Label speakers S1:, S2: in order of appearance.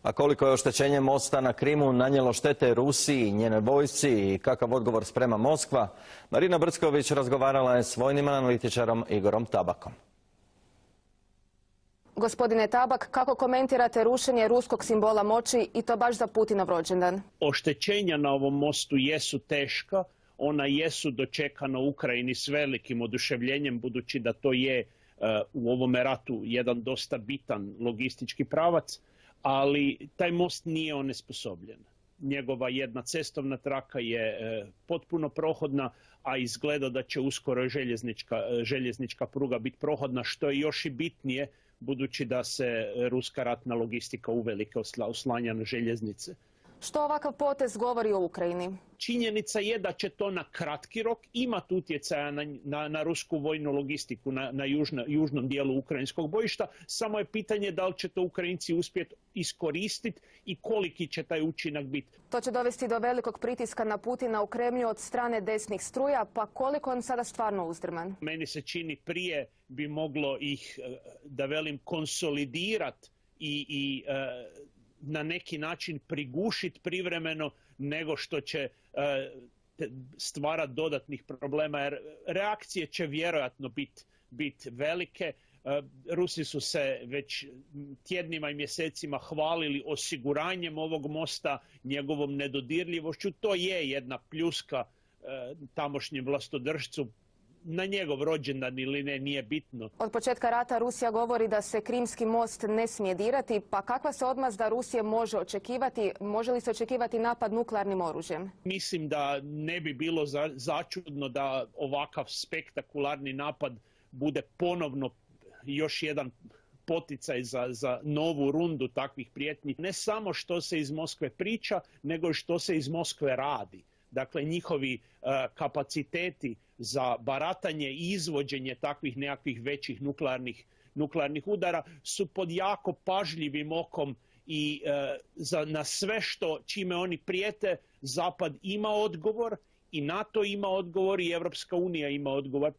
S1: A koliko je oštećenje mosta na Krimu nanijelo štete Rusiji i njenoj vojsci i kakav odgovor sprema Moskva, Marina Brcković razgovarala je s vojnim analitičarom Igorom Tabakom.
S2: Gospodine Tabak, kako komentirate rušenje ruskog simbola moći i to baš za Putinov rođendan?
S3: Oštećenja na ovom mostu jesu teška, ona jesu dočekana u Ukrajini s velikim oduševljenjem, budući da to je u ovome ratu jedan dosta bitan logistički pravac, ali taj most nije onesposobljen. Njegova jedna cestovna traka je potpuno prohodna, a izgleda da će uskoro željeznička pruga biti prohodna, što je još i bitnije, budući da se ruska ratna logistika uvelike oslanja na željeznice.
S2: Što ovakav potez govori o Ukrajini?
S3: Činjenica je da će to na kratki rok imati utjecaja na rusku vojnu logistiku na južnom dijelu ukrajinskog bojišta. Samo je pitanje da li će to Ukrajinci uspjeti iskoristiti i koliki će taj učinak biti.
S2: To će dovesti do velikog pritiska na Putina u Kremlju od strane desnih struja, pa koliko on sada stvarno uzdrman?
S3: Meni se čini prije bi moglo ih, da velim, konsolidirati i na neki način prigušiti privremeno nego što će stvarati dodatnih problema, jer reakcije će vjerojatno biti velike. Rusi su se već tjednima i mjesecima hvalili osiguranjem ovog mosta, njegovom nedodirljivošću. To je jedna pljuska tamošnjem vlastodržcu. Na njegov rođendan ili ne, nije bitno.
S2: Od početka rata Rusija govori da se Krimski most ne smije dirati, pa kakva se odmazda Rusije može očekivati? Može li se očekivati napad nuklearnim oružjem?
S3: Mislim da ne bi bilo začudno da ovakav spektakularni napad bude ponovno još jedan poticaj za novu rundu takvih prijetnji. Ne samo što se iz Moskve priča, nego i što se iz Moskve radi. Dakle, njihovi kapaciteti za baratanje i izvođenje takvih nekakvih većih nuklearnih udara su pod jako pažljivim okom i na sve čime oni prijete, Zapad ima odgovor i NATO ima odgovor i Europska unija ima odgovor.